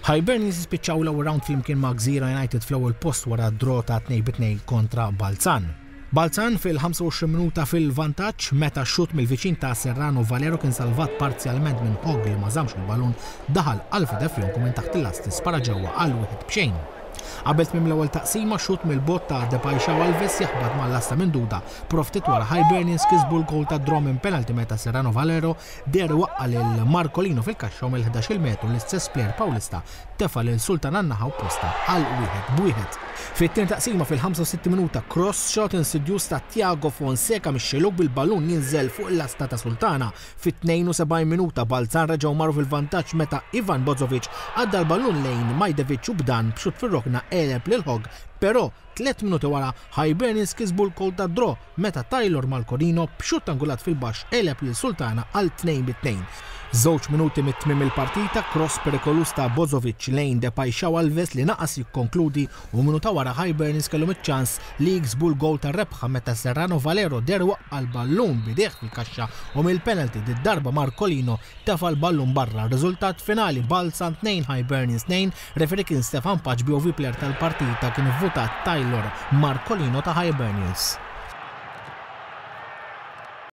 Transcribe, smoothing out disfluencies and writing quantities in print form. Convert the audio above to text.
Hibernians jispiċċaw l-ewwel round flimkien ma' Gżira United fl-ewwel post wara draw ta' 2-2 kontra Balzan. Balzan fil-25 minuta fil-vantaġġ meta xutt mill-viċin ta' Serrano Valero kien salvat parzjalment minn Hogg li ma żammx il-ballun daħal Alfred Efjonku minn taħt il-lasti spara ġewwa għal wieħed b'xejn. Qabel tmiem l-ewwel taqsima xutt mill-bogħod ta' De Paixao Alves jaħbat mal-lasta minn Duda però ftit wara Hibernians kisbu l-gowl tad-draw minn penalty meta Serrano Valero deher iwaqqa' lil Marcolino fil-kaxxa u mill-ħdax-il metru l-istess plejer Pawlista tefa' lil Sultan għan-naħa opposta għal wieħed b'wieħed. Fit-tieni taqsima fil-65 minuta cross shot insidjuż ta' Tiago Fonseca mix-xellug bil-ballun jinżel fuq il-lasta ta' Sultana. Fit-72 minuta Balzan reġgħu marru fil-vantaġġ meta Ivan Bozovic għadda l-ballun lejn Majdevic u b'dan b'xutt fir-rokna għeleb lil Hogg però Tliet minuti wara, Hibernians kisbu l-goal tad-draw meta Tylor Malcorino b'xutt angulat fil-baxx għeleb lil Sultana għal 2 bi 2. Żewġ minuti mit-tmiem il-partita, cross perikoluż ta' Bozovic lejn De Paixao Alves li naqas jikkonkludi u minuta wara Hibernians kellhom iċ-ċans li jiksbu l-goal tar-rebħa meta Serrano Valero deher waqqa' l-ballun b'idejh fil-kaxxa u mill-penalty did-darba Marcolino tefa' l-ballun barra. Riżultat finali, Balzan 2, Hibernians 2, referee kien Stefan Pace BOV player tal-partita kien ivvutat Tylor Marcolino ta' Hibernians.